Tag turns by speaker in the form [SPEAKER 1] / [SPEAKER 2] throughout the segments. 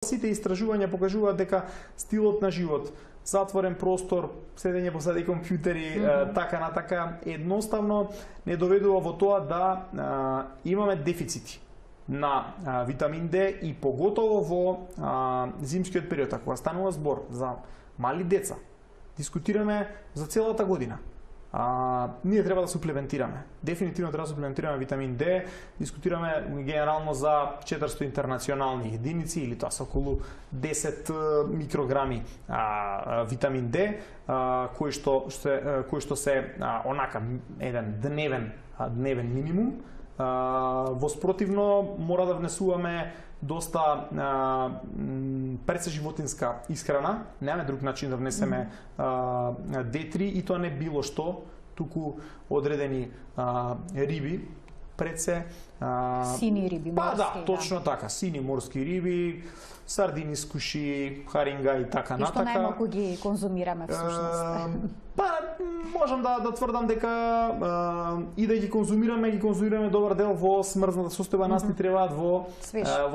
[SPEAKER 1] Сите истражувања покажуваат дека стилот на живот, затворен простор, седење посреди компјутери, така на така, едноставно не доведува во тоа да имаме дефицити на витамин Д и поготово во зимскиот период, кога станува збор за мали деца. Дискутираме за целата година. Ние треба да суплементираме. Дефинитивно треба да суплементираме витамин Д. Дискутираме генерално за 400 интернационални единици или тоа се околу 10 микрограми витамин Д, кои што се онака еден дневен минимум. Во спротивно мора да внесуваме доста пресеживотинска исхрана, немаме друг начин да внесеме D3 и тоа не било што, туку одредени риби, предсе
[SPEAKER 2] сини риби, морски.
[SPEAKER 1] Да, точно така, сини морски риби, сардини, скуши, харинга и така натака.
[SPEAKER 2] И што најмалку ги конзумираме всушност.
[SPEAKER 1] Можам да тврдам дека и да ги конзумираме добар дел во смрзната состојба, нас ни требаат во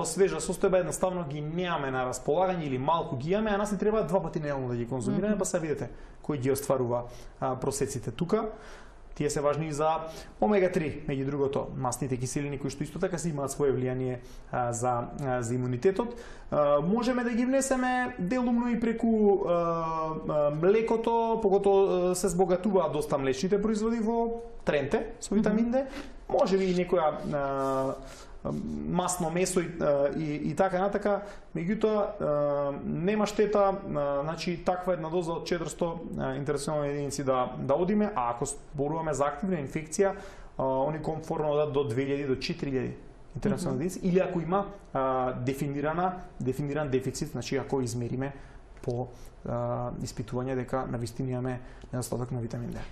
[SPEAKER 1] свежа состојба, едноставно ги немаме на располагање или малку ги имаме, а нас ни требаат 2 пати неделно да ги конзумираме, па се видите кој ги остварува просеците тука. Тие се важни и за омега-3, меѓу другото, масните киселини кои што исто така се имаат своје влијание за имунитетот. Можеме да ги внесеме делумно и преку млекото, поготово се збогатуваат доста млечните производи во тренте со витамин Д. Може би и некоја масно месо и така натака, меѓутоа нема штета, значи таква една доза од 400 интернационални единици да одиме, а ако зборуваме за активна инфекција, они комфортно да до 2000 до 4000 интернационални единици, или ако има дефиниран дефицит, значи ако измериме по испитување дека навистина имаме недостаток на витамин Д.